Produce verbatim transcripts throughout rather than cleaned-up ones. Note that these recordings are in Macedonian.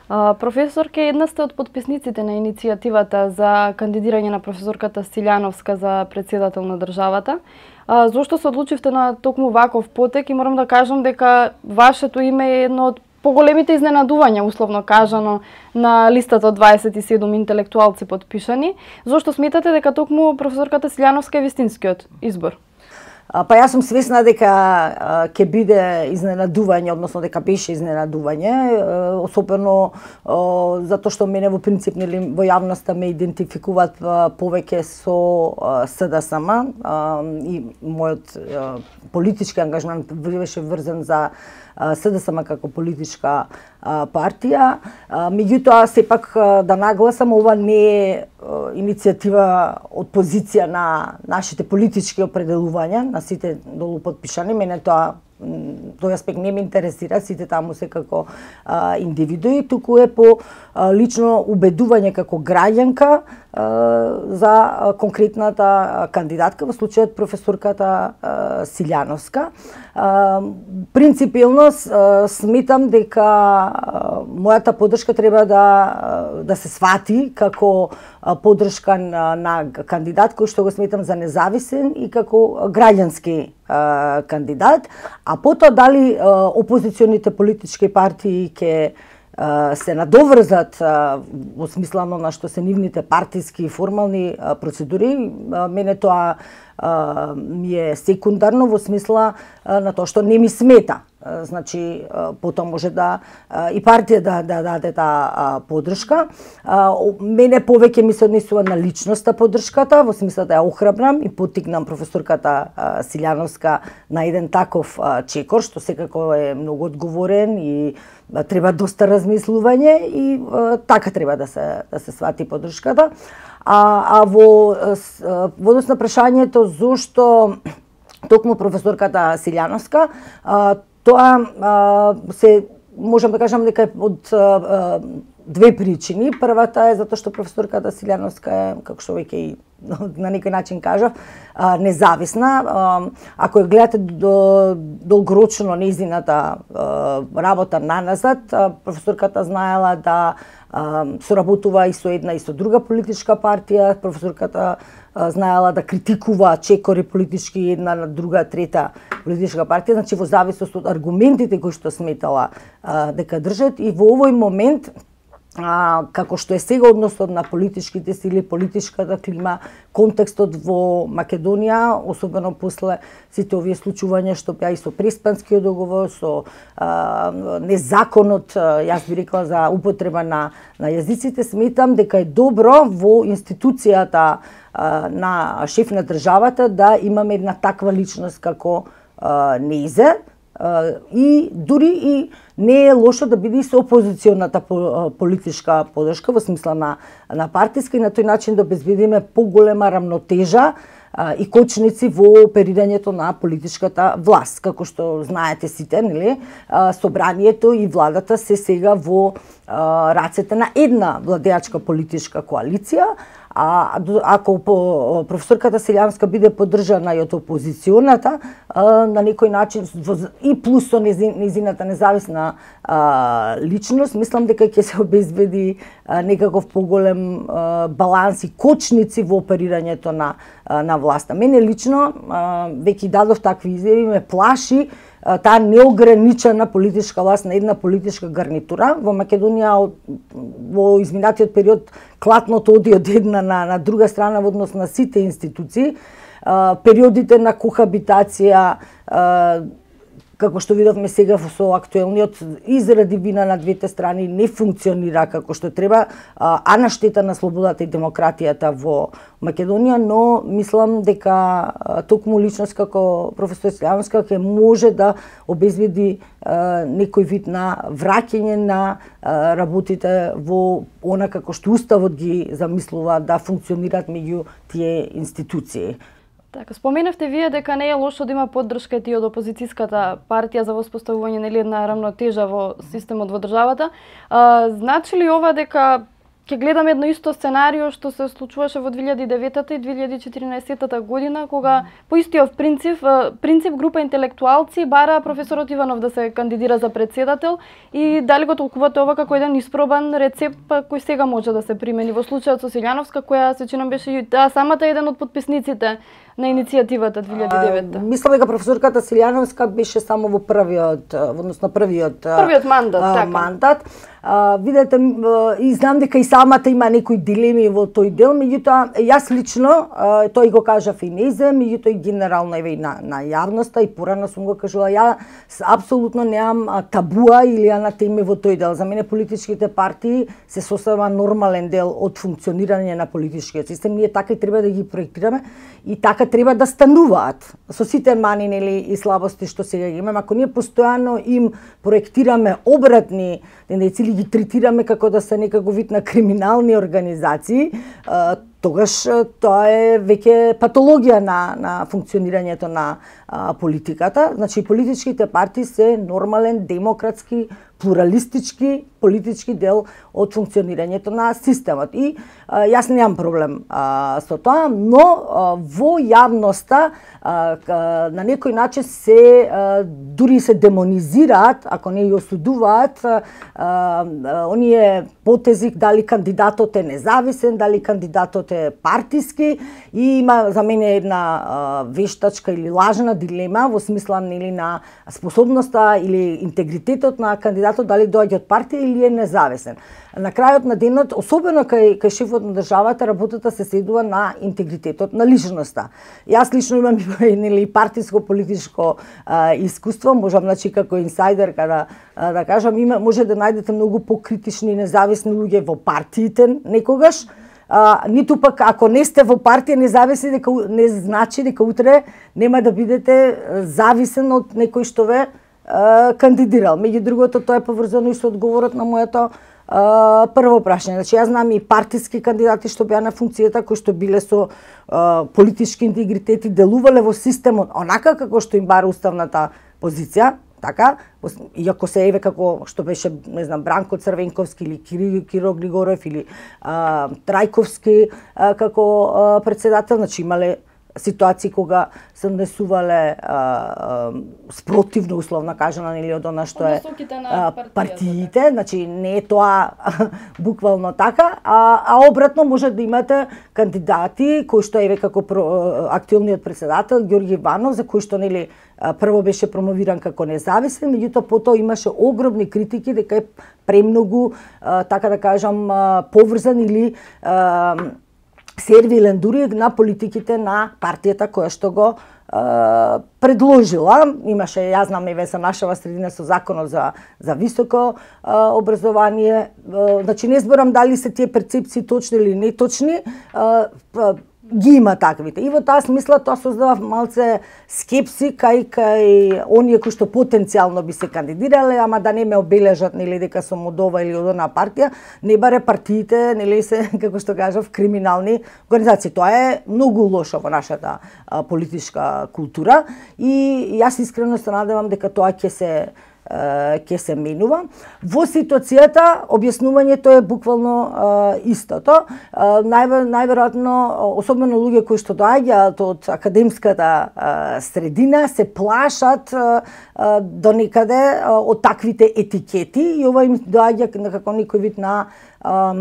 Професорке, една сте од потписниците на иницијативата за кандидирање на професорката Силјановска за претседател на државата. Зошто се одлучивте на токму ваков потек и морам да кажам дека вашето име е едно од поголемите изненадувања, условно кажано, на листата од дваесет и седум интелектуалци потпишани. Зошто сметате дека токму професорката Силјановска е вистинскиот избор? Па јас сум свесна дека ќе биде изненадување, односно дека беше изненадување, особено затоа што мене во принцип нели во јавноста ме идентификуваат повеќе со СДСМ и мојот политички ангажмент беше врзан за СДСМ како политичка партија. Меѓутоа, сепак да нагласам, ова не е иницијатива од позиција на нашите политички определувања, на сите долу потпишани. Мене тоа тој аспект не ме интересира, сите таму се како а, индивидуи, туку е по а, лично убедување како граѓанка а, за а, конкретната кандидатка, во случајот професорката а, Силјановска. А, принципилно а, сметам дека а, мојата поддршка треба да да се свати како а, поддршка на, на кандидат кој што го сметам за независен и како граѓански а, кандидат, а потоа дали а, опозиционите политички партии ќе се надоврзат во смислано на што се нивните партиски и формални а, процедури, а, мене тоа а, ми е секундарно во смисла а, на тоа што не ми смета. А, значи, а, потоа може да а, и партија да, да даде таа поддршка. А, мене повеќе ми се однесува на личноста поддршката, во смисла да ја охрабрам и поттикнам професорката а, Силјановска на еден таков а, чекор, што секако е многу одговорен и а, треба доста размислување и а, така треба да се да се свати поддршката. А, а во во однос на прашањето зошто токму професорката Силјановска, а, тоа а, се можам да кажам дека од а, две причини. Првата е затоа што професорката Силјановска е, како што веќе и на некој начин кажав, а, независна. А, ако ја гледате до, долгорочно нејзината работа наназад, а, професорката знаела да а, соработува и со една и со друга политичка партија. Професорката а, знаела да критикува чекори политички една на друга, трета политичка партија, значи во зависност од аргументите кои што сметала а, дека држат. И во овој момент, А, како што е сега односот на политичките сили, политичката клима, контекстот во Македонија, особено после сите овие случувања што беа и со Преспанскиот договор, со а, незаконот, јас би рекла, за употреба на, на јазиците, сметам дека е добро во институцијата а, на шеф на државата да имаме една таква личност како а, Нејзе, и дури и не е лошо да биде и со опозиционата политичка поддршка во смисла на на партиска и на тој начин да обезбедиме поголема рамнотежа и кочници во оперирањето на политичката власт. Како што знаете сите, нели, собранието и владата се сега во рацете на една владеачка политичка коалиција. А ако професорката Силјановска биде поддржана и од опозиционата, на некој начин и плюс со незината независна личност, мислам дека ќе се обезбеди некаков поголем баланс и кочници во оперирањето на на власта. Мене лично, веќе дадов такви изјави, ме плаши таа неограничена политичка власт на една политичка гарнитура. Во Македонија во изминатиот период клатното оди од една на, на друга страна во однос на сите институции. Периодите на кохабитација, како што видовме сега со актуелниот, изради вина на двете страни не функционира како што треба, а на штета на слободата и демократијата во Македонија, но мислам дека токму личност како професор Силјановска ќе може да обезбеди некој вид на враќање на работите во она како што уставот ги замислува да функционираат меѓу тие институции. Така, споменавте вие дека не е лошо да има поддршка и од опозицијската партија за воспоставување нели една рамнотежа во системот во државата. А, значи ли ова дека ќе гледаме едно исто сценарио што се случуваше во две илјади и девета и две илјади и четиринаесета година, кога по истиот принцип, принцип група интелектуалци бара професорот Иванов да се кандидира за председател и дали го толкувате ова како еден испробан рецепт кој сега може да се примени во случајот со Силјановска, која се чинам беше и таа самата еден од подписниците на иницијативата две илјади и девета. Мислам дека професорката Силјановска беше само во првиот, односно првиот првиот мандат, а, така. мандат. А, видете, и знам дека и самата има некои дилеми во тој дел, меѓутоа јас лично, а, тој го кажав и незе, меѓутоа и генерално еве на на јавноста и порано сум го кажала, ја апсолутно немам табуа или анатеми во тој дел. За мене политичките партии се сосема нормален дел од функционирање на политичкиот систем. Ние така и треба да ги проектираме и така треба да стануваат со сите мани нели и слабости што сега ги имаме. Ако ние постојано им проектираме обратни тенденции, ги третираме како да се некако вид на криминални организации, тогаш тоа е веќе патологија на на функционирањето на а, политиката. Значи политичките партии се нормален, демократски, плуралистички политички дел од функционирањето на системот. И а, јас немам проблем а, со тоа, но а, во јавноста а, на некој начин се а, дури се демонизираат, ако не ја осудуваат, а, а, оние потези дали кандидатот е независен, дали кандидатот е партиски, и има за мене една а, вештачка или лажна дилема во смисла нели на способноста или интегритетот на кандидатот дали доаѓа од партија или е независен. На крајот на денот, особено кај кај шефот на државата, работата се седува на интегритетот на личноста. Јас лично имам нели партиско политичко а, искуство, можам значи како инсайдер да а, да кажам, има може да најдете многу покритични и независни луѓе во партиите некогаш. А, ниту пак ако не сте во партија независни, дека не значи дека утре нема да бидете зависен од некој што ве а, кандидирал. Меѓу другото, тоа е поврзано и со одговорот на моето а, прво прашање. Значи јас знам и партиски кандидати што беа на функцијата, кои што биле со а, политички интегритет и делувале во системот онака како што им бара уставната позиција. Така, иако се еве како што беше, не знам, Бранко Црвенковски или Киро, Киро Григоров или а, Трајковски а, како а, председател, значи имале ситуации кога се однесувале а, а, спротивно, условно кажано, или од она што е а, партиите, значи не е тоа буквално така, а, а обратно може да имате кандидати кои што еве како про, актуелниот председател Ѓорѓи Иванов, за кој што нели прво беше промовиран како независен, меѓутоа потоа имаше огромни критики дека е премногу, а, така да кажам, а, поврзан или а, сервилен дури на политиките на партијата која што го а, предложила. Имаше, јас знам, еве се нашава средина со законот за за високо а, образование. А, значи не зборам дали се тие перцепции точни или неточни, а, а, ги има таквите. И во таа смисла тоа создава малце скепси кај кај оние кои што потенцијално би се кандидирале, ама да не ме обележат нели дека сум од ова или од она партија, не баре партиите нели се како што кажав криминални организации. Тоа е многу лошо во нашата а, политичка култура и јас искрено се надевам дека тоа ќе се ќе се менува. Во ситуацијата објаснувањето е буквално а, истото. А, највер, најверојатно, особено луѓе кои што доаѓаат од академската а, средина, се плашат а, а, до некаде а, од таквите етикети и ова им доаѓа како некој вид на а,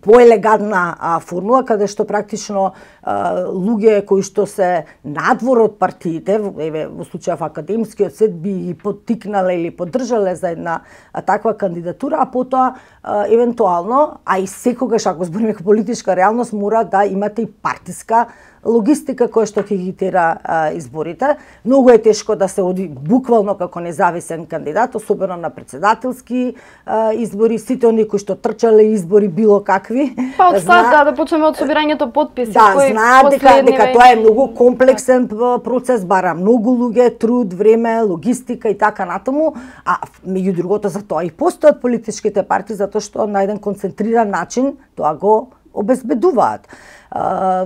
поелегантна а, формула, каде што практично а, луѓе кои што се надвор од партиите, еве во случајов академскиот свет би ги поттикнале или поддржале за една а, таква кандидатура, а потоа а, евентуално, а и секогаш ако збориме како политичка реалност, мора да имате и партиска логистика која што ќе ги тера а, изборите. Многу е тешко да се оди буквално како независен кандидат, особено на председателски а, избори, сите оние кои што трчале избори било какви. Па од стат, да, да почнеме од собирањето потписи. Да, знаат дека, дека тоа е многу комплексен процес, бара многу луѓе, труд, време, логистика и така натаму, а меѓу другото за тоа и постојат политичките партии, затоа што на еден концентриран начин тоа го обезбедуваат.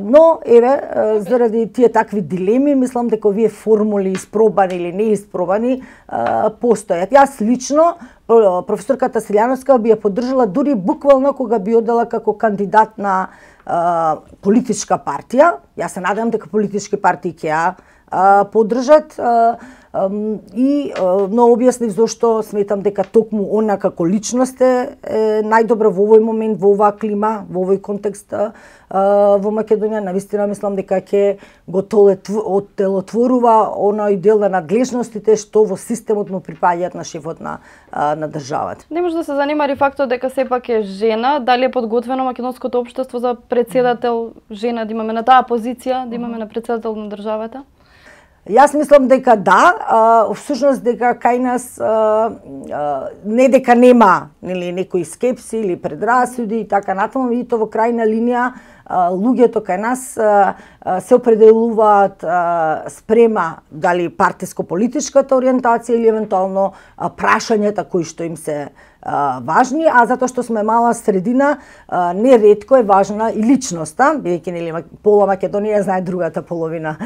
Но, еве, заради тие такви дилеми, мислам дека овие формули испробани или не испробани постојат. Јас лично, професорката Силјановска би ја поддржала дури буквално кога би одела како кандидат на политичка партија. Јас се надевам дека политички партии ќе ја поддржат и но објаснив зошто сметам дека токму она како личност е најдобра во овој момент, во оваа клима, во овој контекст во Македонија. Навистина мислам дека ќе го оттелотворува оној дел на надлежностите што во системот му припаѓаат на шефот на на државата. Не може да се занимари фактот дека сепак е жена, дали е подготвено македонското општество за председател жена да имаме на таа позиција, да имаме на председател на државата? Јас мислам дека да, а, всушност дека кај нас а, а, не дека нема нели некои скепси или предрасуди и така натаму, видите во крајна линија а, луѓето кај нас а, а, се определуваат а, спрема дали партиско-политичката ориентација или евентуално а, прашањата кои што им се а, важни, а затоа што сме мала средина, а, неретко е важна и личноста, бидејќи нели пола Македонија знае другата половина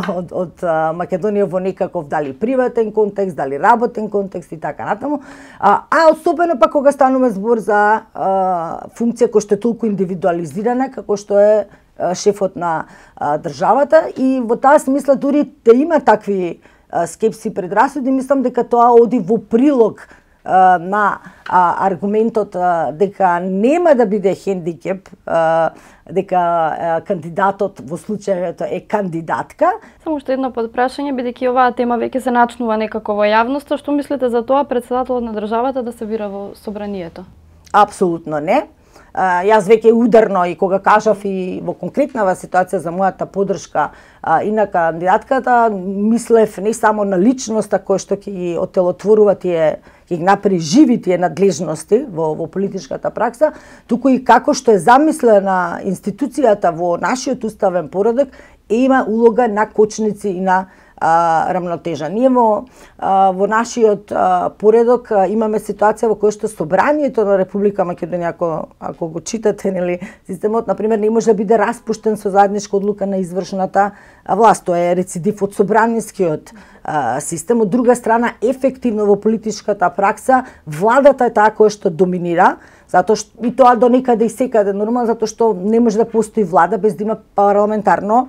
од, од а, Македонија во некаков дали приватен контекст, дали работен контекст и така натаму. А, а особено пак кога станува збор за а, функција која што е толку индивидуализирана како што е а, шефот на а, државата, и во таа смисла дури да има такви а, скепси предрасуди, мислам дека тоа оди во прилог на а, аргументот а, дека нема да биде хендикеп, а, дека а, кандидатот во случајето е кандидатка. Само што едно подпрашање, бидејќи оваа тема веќе се начнува некако во јавноста, што мислите за тоа председателот на државата да се бира во собранието? Апсолутно не. Uh, јас веќе ударно и кога кажав и во конкретнава ситуација за мојата поддршка uh, и на кандидатката, мислев не само на личноста која што ќе ги оттелотворува тие, ќе ги направи живи тие надлежности во, во политичката пракса, туку и како што е замислена институцијата во нашиот уставен поредок, е има улога на кочници и на А, рамнотежа. Ние во, а, во нашиот а, поредок а, имаме ситуација во која што собранието на Република Македонија, ако, ако го читате, нели, системот, например, не може да биде распуштен со заедничка одлука на извршната власт. Тоа е рецидив од собранискиот а, систем. Од друга страна, ефективно во политичката пракса, владата е таа која што доминира, затоа што и тоа до некаде и секаде нормално, затоа што не може да постои влада без да има парламентарно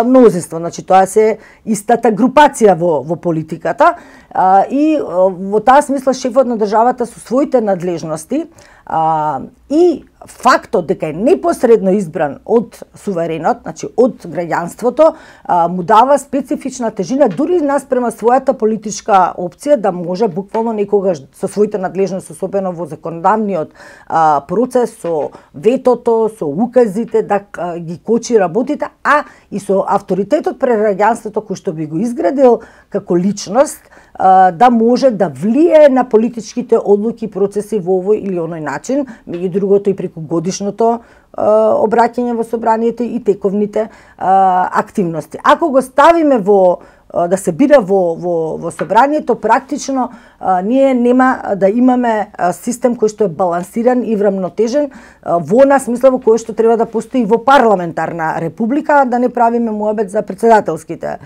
мнозинство. Значи тоа се истата групација во во политиката, а, и а, во таа смисла шефот на државата со своите надлежности а, и фактот дека е непосредно избран од суверенот, значи од граѓанството, а, му дава специфична тежина дури наспрема својата политичка опција да може буквално некогаш со своите надлежности, особено во законодавниот а, процес, со ветото, со указите да а, ги кочи работите, а и со авторитетот пред граѓанството кој што би го изградил како личност, а, да може да влие на политичките одлуки и процеси во овој или оној начин, меѓу другото и преку годишното а, обраќање во собранието и тековните а, активности. Ако го ставиме во да се бира во, во, во собранието, практично а, ние нема да имаме а, систем кој што е балансиран и врамнотежен а, во она смисла во кој што треба да постои во парламентарна република, да не правиме муабет за председателските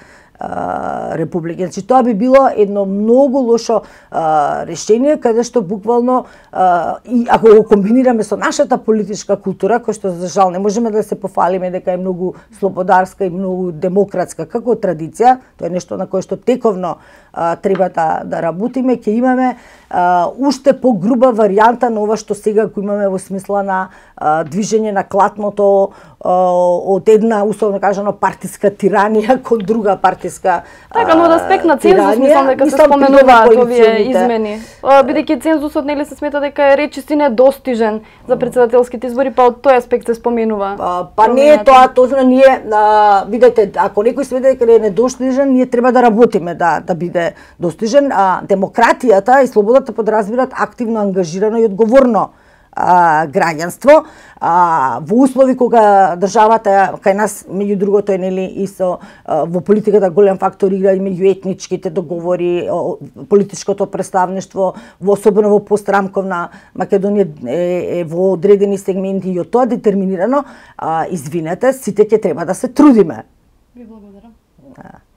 републики. Значи тоа би било едно многу лошо а, решение, каде што буквално а, и ако го комбинираме со нашата политичка култура, која што за жал не можеме да се пофалиме дека е многу слободарска и многу демократска како традиција, тоа е нешто на кое што тековно а, треба да, да работиме, ќе имаме а, уште погруба варијанта на ова што сега го имаме во смисла на а, движење на клатното од една, условно кажано, партиска тиранија кон друга партиска Така, но од аспект на цензус, мислам дека се споменуваат овие измени. Бидејќи цензусот нели се смета дека е речиси недостижен за председателските избори, па од тој аспект се споменува. Па, па не е тоа, точно ние, а, видете, ако некој смета дека е недостижен, ние треба да работиме да да биде достижен. А демократијата и слободата подразбираат активно, ангажирано и одговорно а, граѓанство, а, во услови кога државата кај нас меѓу другото е нели и со а, во политиката голем фактор игра и меѓуетничките договори, о, политичкото представништво, во особено во пострамковна Македонија е, е во одредени сегменти и од тоа детерминирано, а, извинете, сите ќе треба да се трудиме. Ви благодарам. Да.